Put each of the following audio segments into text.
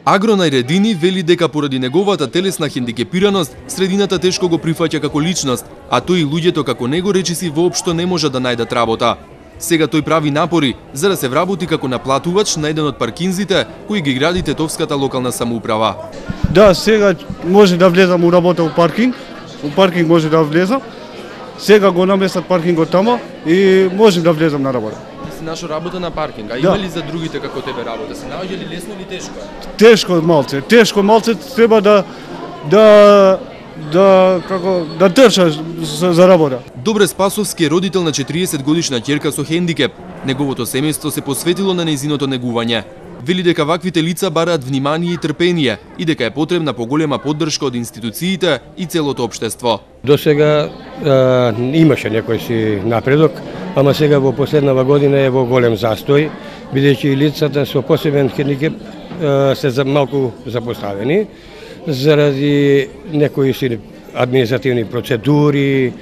Агро Најредини вели дека поради неговата телесна хендикепираност, средината тешко го прифаќа како личност, а тој и луѓето како него речиси воопшто не можат да најдат работа. Сега тој прави напори за да се вработи како наплатувач на еден од паркинзите кои ги гради Тетовската локална самоуправа. Да, сега може да влезам у работа у паркинг може да влезам. Сега го наместат паркингот тама и можем да влезам на работа. Си нашо работа на паркинг, а да. има ли за другите како тебе работа? Се наоѓа ли лесно или тешко? Тешко малце треба да држаш за работа. Добре Спасовски е родител на 40 годишна ќерка со хендикеп. Неговото семејство се посветило на нејзиното негување. Вели дека ваквите лица бараат внимание и трпение и дека е потребна поголема поддршка од институциите и целото општество. До сега имаше некој си напредок, ама сега во последнава година е во голем застој, бидејќи лицата со посебен хендикеп се малку запоставени заради некои си административни процедури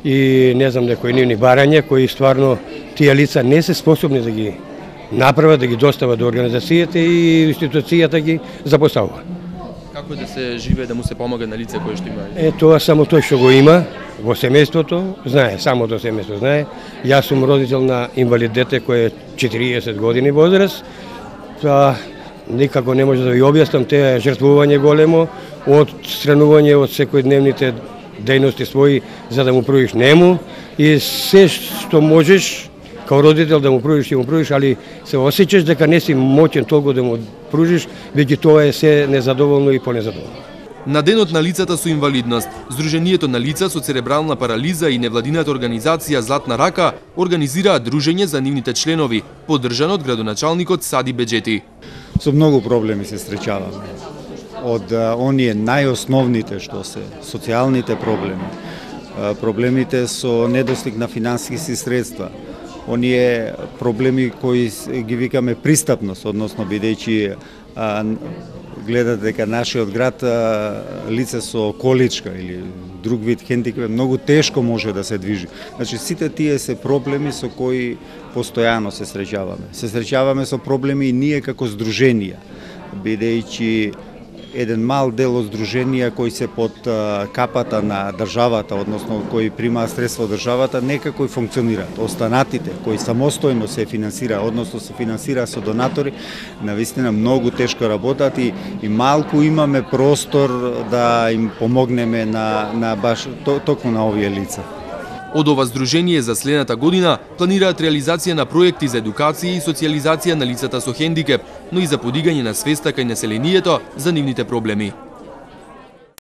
и не знам некои нивни барања кои стварно тие лица не се способни да ги направат, да ги достават до организацијата и институцијата ги запоставува. Како да се живее, да му се помага на лице кое што има? Тоа само тој што го има во семејството, знае, само тоа семејство знае. Јас сум родител на инвалид дете кој е 40 години возраст. Никако не може да ви објаснам те жртвување големо од странување од секојдневните дејности своји за да му пруžиш нему и се што можеш као родител да му пруžиш, али се осеќаш дека не си моќен толку да му пруžиш, веќе тоа е се незадоволно и понезадоволно. На денот на лицата со инвалидност, Сдруженијето на лица со церебрална парализа и невладината организација Златна рака организираат дружење за нивните членови, поддржано од градоначалникот Сади Беџети. Со многу проблеми се среќаваме. Од оние најосновните што се социјалните проблеми, проблемите со недостиг на финансиски средства, оние проблеми кои ги викаме пристапност, односно бидејќи гледат дека нашиот град лице со количка или друг вид хендикеп многу тешко може да се движи. Значи сите тие се проблеми со кои постојано се среќаваме. Се среќаваме со проблеми и ние како здруженија, бидејќи еден мал дел од здруженија кои се под капата на државата, односно кои примаат средства од државата, некако и функционираат. Останатите кои самостојно се финансира, односно се финансира со донатори, навистина многу тешко работат и малку имаме простор да им помогнеме на баш токму на овие лица. Од ова здружение за следната година планираат реализација на проекти за едукација и социјализација на лицата со хендикеп, но и за подигање на свеста кај населението за нивните проблеми.